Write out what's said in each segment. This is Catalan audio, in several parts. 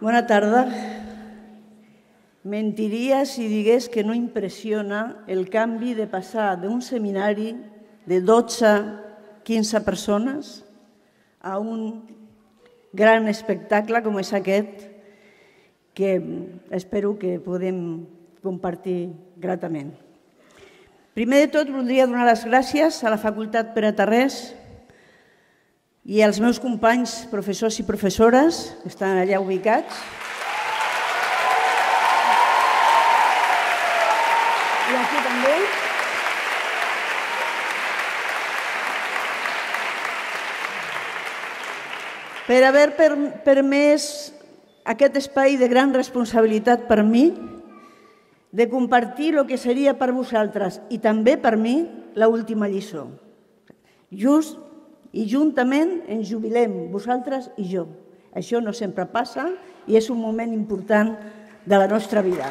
Bona tarda. Mentiria si digués que no impressiona el canvi de passar d'un seminari de 12-15 persones a un gran espectacle com és aquest, que espero que podem compartir gratament. Primer de tot, voldria donar les gràcies a la Facultat Pere Tarrés i als meus companys, professors i professores, que estan allà ubicats. I aquí també. Per haver permès aquest espai de gran responsabilitat per mi, de compartir el que seria per vosaltres i també per mi l'última lliçó. Just i juntament ens jubilem, vosaltres i jo. Això no sempre passa i és un moment important de la nostra vida.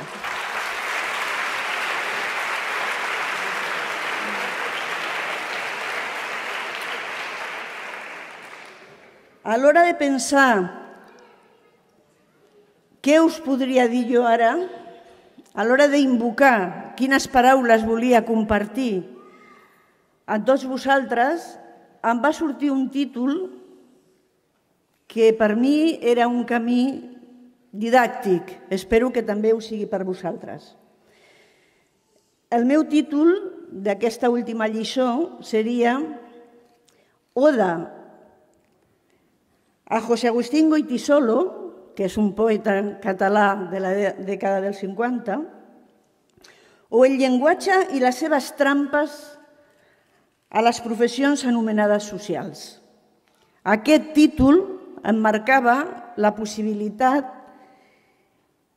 A l'hora de pensar què us podria dir jo ara, a l'hora d'invocar quines paraules volia compartir amb tots vosaltres, em va sortir un títol que per mi era un camí didàctic. Espero que també ho sigui per vosaltres. El meu títol d'aquesta última lliçó seria Oda a José Agustín Goytisolo, que és un poeta català de la dècada dels 50, o el llenguatge i les seves trampes a les professions anomenades socials. Aquest títol em marcava la possibilitat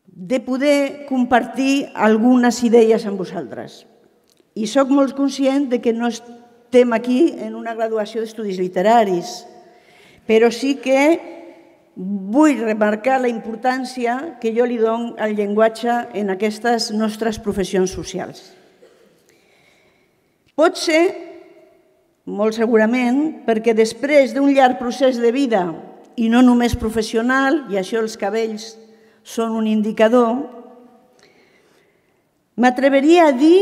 de poder compartir algunes idees amb vosaltres. I soc molt conscient que no estem aquí en una graduació d'estudis literaris, però sí que vull remarcar la importància que jo li dono al llenguatge en aquestes nostres professions socials. Pot ser, molt segurament, perquè després d'un llarg procés de vida, i no només professional, i això els cabells són un indicador, m'atreveria a dir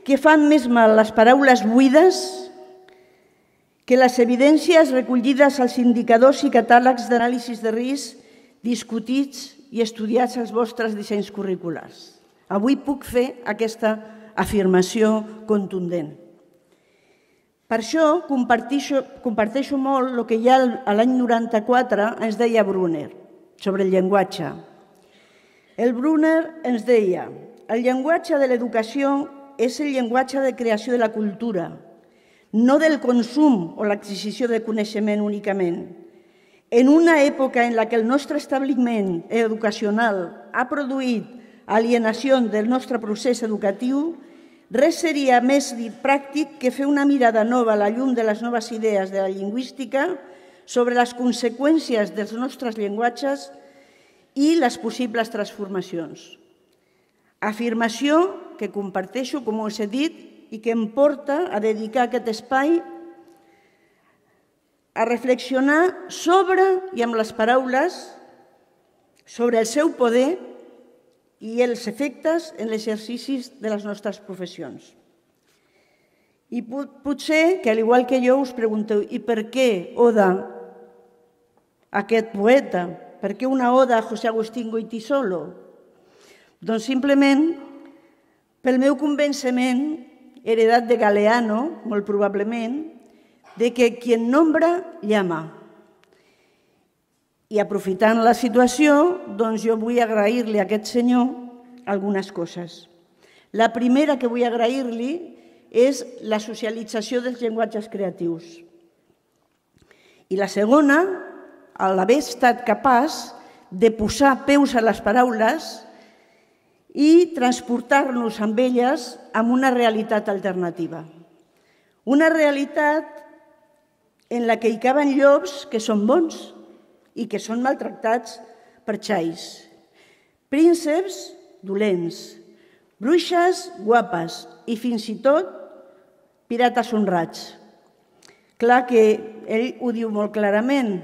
que fan més mal les paraules buides que les evidències recollides als indicadors i catàlegs d'anàlisi de risc discutits i estudiats als vostres dissenys curriculars. Avui puc fer aquesta afirmació contundent. Per això comparteixo molt el que ja l'any 94 ens deia Brunner sobre el llenguatge. El Brunner ens deia: el llenguatge de l'educació és el llenguatge de creació de la cultura, no del consum o l'adquisició de coneixement únicament. En una època en la que el nostre establiment educacional ha produït alienació del nostre procés educatiu, res seria més pràctic que fer una mirada nova a la llum de les noves idees de la lingüística sobre les conseqüències dels nostres llenguatges i les possibles transformacions. Afirmació que comparteixo, com us he dit, i que em porta a dedicar aquest espai a reflexionar sobre, i amb les paraules, sobre el seu poder i els efectes en l'exercici de les nostres professions. I potser que, al igual que jo, us pregunteu: i per què oda a aquest poeta? Per què una oda a José Agustín Goytisolo? Doncs simplement pel meu convenciment, heredat de Galeano, molt probablement, de que quien nombra, llama. I aprofitant la situació, doncs jo vull agrair-li a aquest senyor algunes coses. La primera que vull agrair-li és la socialització dels llenguatges creatius. I la segona, l'haver estat capaç de posar peus a les paraules i transportar-nos amb elles a una realitat alternativa. Una realitat en la que hi caben llops que són bons i que són maltractats per xais, prínceps dolents, bruixes guapes i fins i tot pirates honrats. Clar que ell ho diu molt clarament,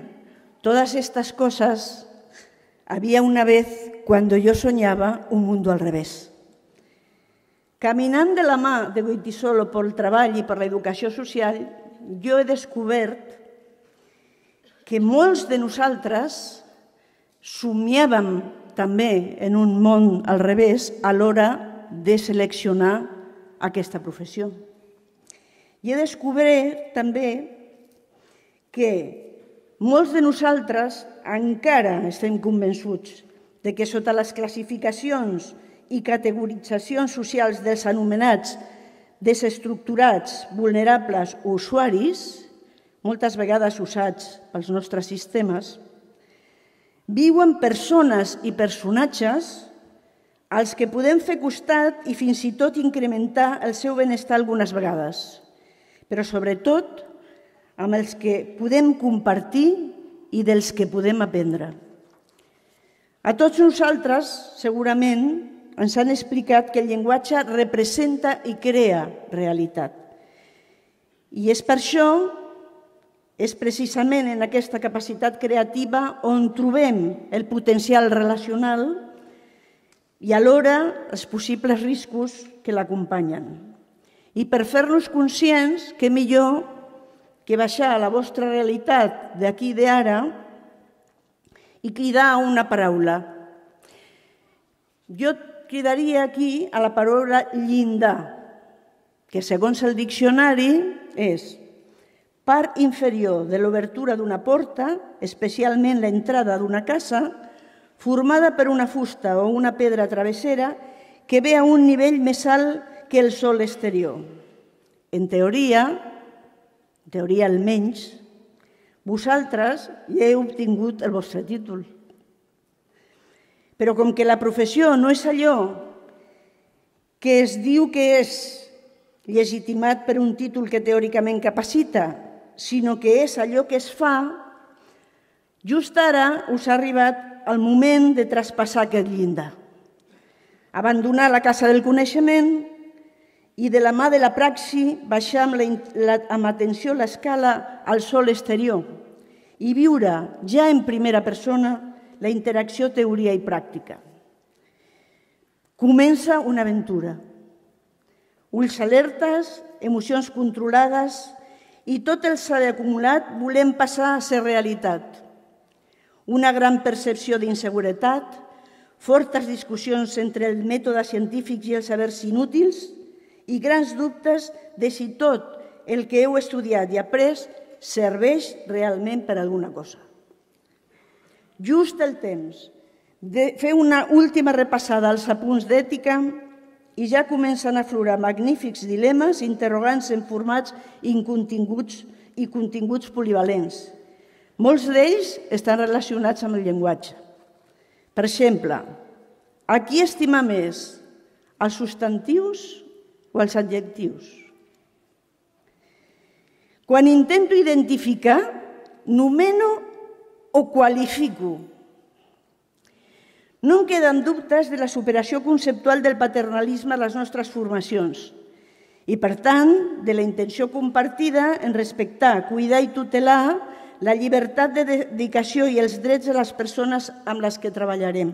todas estas cosas Había una vez cuando yo soñaba un mundo al revés. Caminant de la mà de Goytisolo pel treball i per l'educació social, jo he descobert que molts de nosaltres somiàvem també en un món al revés a l'hora de seleccionar aquesta professió. I he descobert també que molts de nosaltres encara estem convençuts de que sota les classificacions i categoritzacions socials dels anomenats desestructurats, vulnerables o usuaris, moltes vegades usats pels nostres sistemes, viuen persones i personatges als que podem fer costat i fins i tot incrementar el seu benestar algunes vegades, però sobretot amb els que podem compartir i dels que podem aprendre. A tots nosaltres, segurament, ens han explicat que el llenguatge representa i crea realitat. I és per això, és precisament en aquesta capacitat creativa on trobem el potencial relacional i alhora els possibles riscos que l'acompanyen. I per fer-nos conscients, què millor que baixar a la vostra realitat d'aquí i d'ara i cridar a una paraula. Jo cridaria aquí a la paraula llindar, que segons el diccionari és part inferior de l'obertura d'una porta, especialment l'entrada d'una casa, formada per una fusta o una pedra travessera que ve a un nivell més alt que el sòl exterior. En teoria almenys, vosaltres ja heu obtingut el vostre títol. Però com que la professió no és allò que es diu que és legitimat per un títol que teòricament capacita, sinó que és allò que es fa, just ara us ha arribat el moment de traspassar aquest llindar. Abandonar la casa del coneixement i de la mà de la praxi baixar amb atenció l'escala al sòl exterior i viure ja en primera persona la interacció teoria i pràctica. Comença una aventura. Ulls alertes, emocions controlades i tot el s'ha acumulat volem passar a ser realitat. Una gran percepció d'inseguretat, fortes discussions entre el mètode científic i els sabers inútils i grans dubtes de si tot el que heu estudiat i après serveix realment per a alguna cosa. Just el temps de fer una última repassada als apunts d'ètica i ja comencen a aflorar magnífics dilemes, interrogants en formats i continguts polivalents. Molts d'ells estan relacionats amb el llenguatge. Per exemple, a qui estima més, els substantius o els adjectius? Quan intento identificar, nomeno o qualifico. No em queden dubtes de la superació conceptual del paternalisme a les nostres formacions i, per tant, de la intenció compartida en respectar, cuidar i tutelar la llibertat de dedicació i els drets de les persones amb les que treballarem.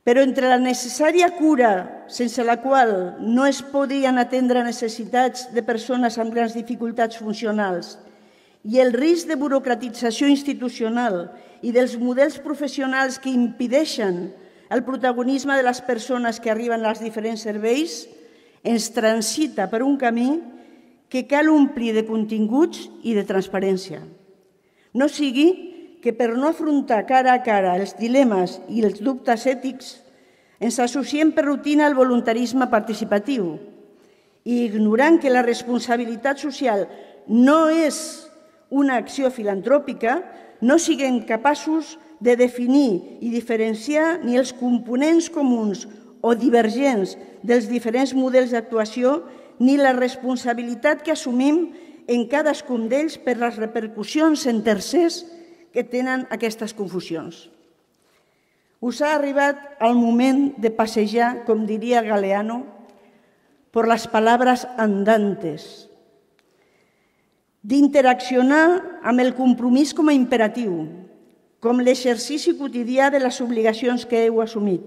Però entre la necessària cura, sense la qual no es podrien atendre necessitats de persones amb grans dificultats funcionals, i el risc de burocratització institucional i dels models professionals que impedeixen el protagonisme de les persones que arriben als diferents serveis, ens transita per un camí que cal omplir de continguts i de transparència. No sigui que per no afrontar cara a cara els dilemes i els dubtes ètics ens associem per rutina al voluntarisme participatiu i ignorant que la responsabilitat social no és una acció filantròpica, no siguem capaços de definir i diferenciar ni els components comuns o divergents dels diferents models d'actuació ni la responsabilitat que assumim en cadascun d'ells per les repercussions en tercers que tenen aquestes confusions. Us ha arribat el moment de passejar, com diria Galeano, por las palabras andantes, d'interaccionar amb el compromís com a imperatiu, com l'exercici quotidià de les obligacions que heu assumit,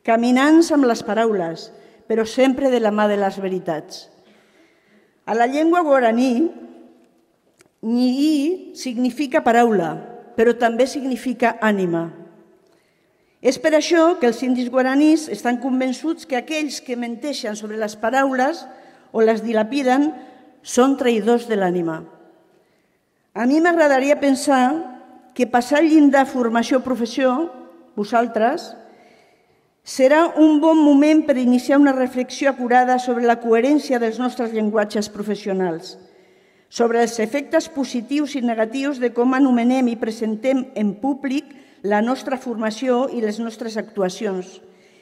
caminant amb les paraules, però sempre de la mà de les veritats. A la llengua guaraní, Nyi'i significa paraula, però també significa ànima. És per això que els indis guaranís estan convençuts que aquells que menteixen sobre les paraules o les dilapiden són traïdors de l'ànima. A mi m'agradaria pensar que passar el llindar formació-professió, vosaltres, serà un bon moment per iniciar una reflexió acurada sobre la coherència dels nostres llenguatges professionals, sobre els efectes positius i negatius de com anomenem i presentem en públic la nostra formació i les nostres actuacions.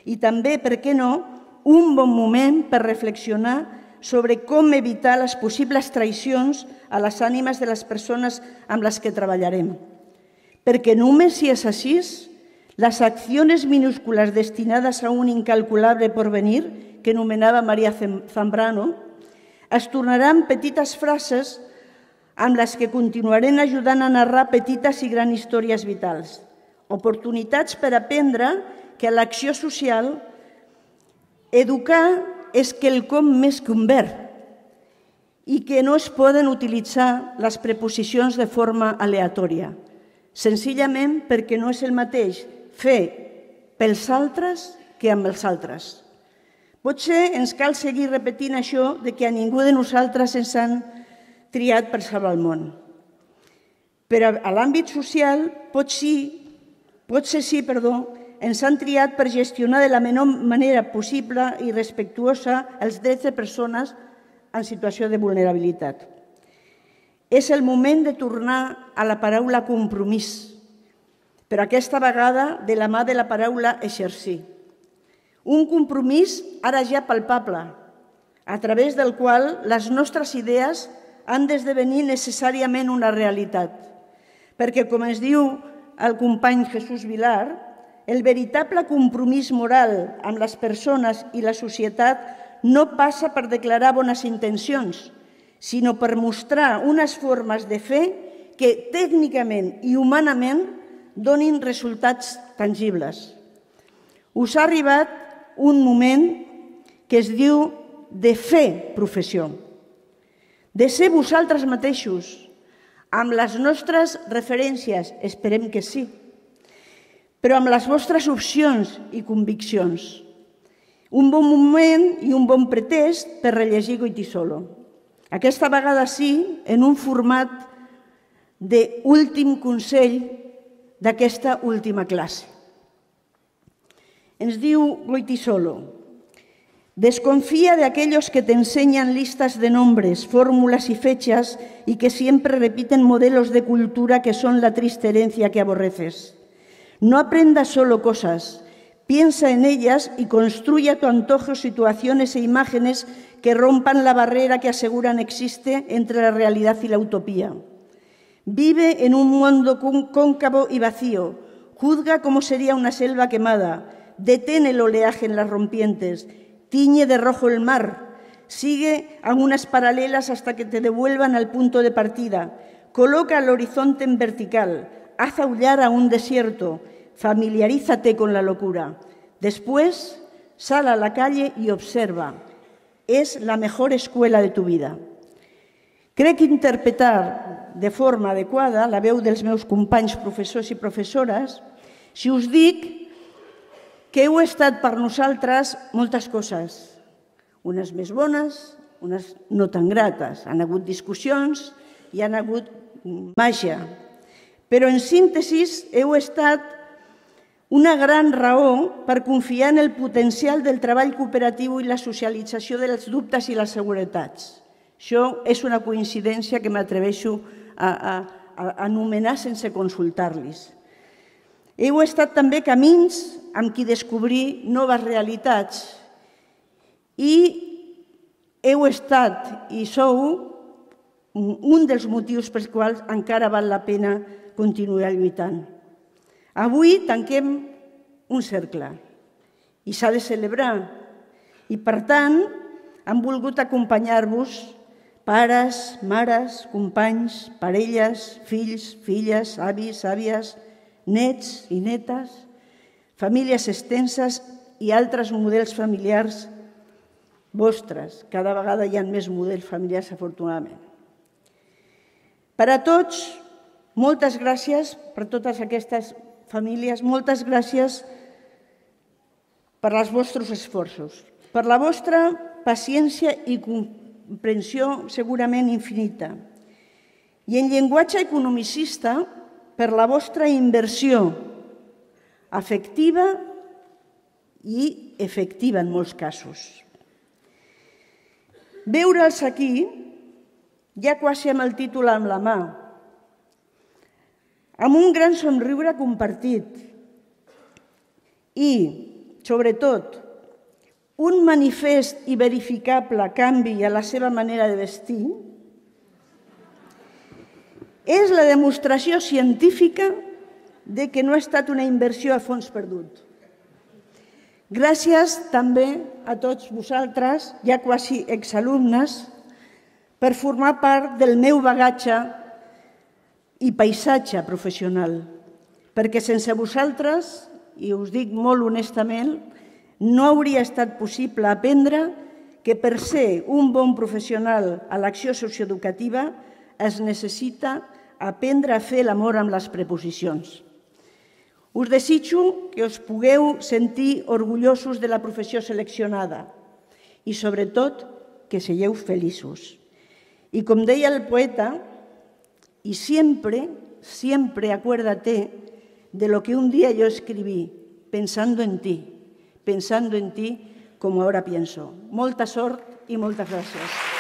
I també, per què no, un bon moment per reflexionar sobre com evitar les possibles traïcions a les ànimes de les persones amb les que treballarem. Perquè només si és així, les accions minúscules destinades a un incalculable porvenir, que anomenava Maria Zambrano, es tornaran petites frases amb les que continuarem ajudant a narrar petites i grans històries vitals. Oportunitats per aprendre que a l'acció social educar és quelcom més que un verb i que no es poden utilitzar les preposicions de forma aleatòria, senzillament perquè no és el mateix fer pels altres que amb els altres. Potser ens cal seguir repetint això de que a ningú de nosaltres ens han triat per salvar el món. Però a l'àmbit social potser sí, ens han triat per gestionar de la menor manera possible i respectuosa els drets de persones en situació de vulnerabilitat. És el moment de tornar a la paraula compromís, però aquesta vegada de la mà de la paraula exercir. Un compromís ara ja palpable, a través del qual les nostres idees han d'esdevenir necessàriament una realitat. Perquè, com ens diu el company Jesús Vilar, el veritable compromís moral amb les persones i la societat no passa per declarar bones intencions, sinó per mostrar unes formes de fer que tècnicament i humanament donin resultats tangibles. Us ha arribat un moment que es diu de fer professió, de ser vosaltres mateixos, amb les nostres referències, esperem que sí, però amb les vostres opcions i conviccions. Un bon moment i un bon pretest per rellegir Goytisolo. Aquesta vegada sí, en un format d'últim consell d'aquesta última clase. Ens diu Goytisolo: desconfía de aquellos que te enseñan listas de nombres, fórmulas y fechas y que siempre repiten modelos de cultura que son la triste herencia que aborreces. No aprendas solo cosas, piensa en ellas y construye a tu antojo situaciones e imágenes que rompan la barrera que aseguran existe entre la realidad y la utopía. Vive en un mundo cóncavo y vacío, juzga cómo sería una selva quemada, detén el oleaje en las rompientes, tiñe de rojo el mar, sigue a unas paralelas hasta que te devuelvan al punto de partida, coloca el horizonte en vertical, haz aullar a un desierto, familiarízate con la locura. Después, sal a la calle y observa. Es la mejor escuela de tu vida. Crec interpretar de forma adequada la veu dels meus companys professors i professores si us dic que heu estat per nosaltres moltes coses, unes més bones, unes no tan grates. Han hagut discussions i han hagut màgia. Però en síntesi heu estat una gran raó per confiar en el potencial del treball cooperatiu i la socialització dels dubtes i les seguretats. Això és una coincidència que m'atreveixo a anomenar sense consultar-los. Heu estat també camins amb qui descobrir noves realitats i heu estat i sou un dels motius pels quals encara val la pena continuar lluitant. Avui tanquem un cercle i s'ha de celebrar i, per tant, hem volgut acompanyar-vos, pares, mares, companys, parelles, fills, filles, avis, àvies, nets i netes, famílies extenses i altres models familiars vostres. Cada vegada hi ha més models familiars, afortunadament. Per a tots, moltes gràcies per totes aquestes famílies, moltes gràcies per als vostres esforços, per la vostra paciència i comprensió segurament infinita. I en llenguatge economicista, per la vostra inversió afectiva i efectiva en molts casos. Veure'ls aquí, ja quasi amb el títol en la mà, amb un gran somriure compartit i, sobretot, un manifest i verificable canvi a la seva manera de vestir, és la demostració científica de que no ha estat una inversió a fons perdut. Gràcies també a tots vosaltres, ja quasi exalumnes, per formar part del meu bagatge i paisatge professional, perquè sense vosaltres, i us dic molt honestament, no hauria estat possible aprendre que per ser un bon professional a l'acció socioeducativa es necessita aprendre a fer l'amor amb les preposicions. Us desitjo que us pugueu sentir orgullosos de la professió seleccionada i, sobretot, que sigueu feliços. Y como deia el poeta, y siempre, siempre acuérdate de lo que un día yo escribí, pensando en ti como ahora pienso. Molta sort y moltes gràcies.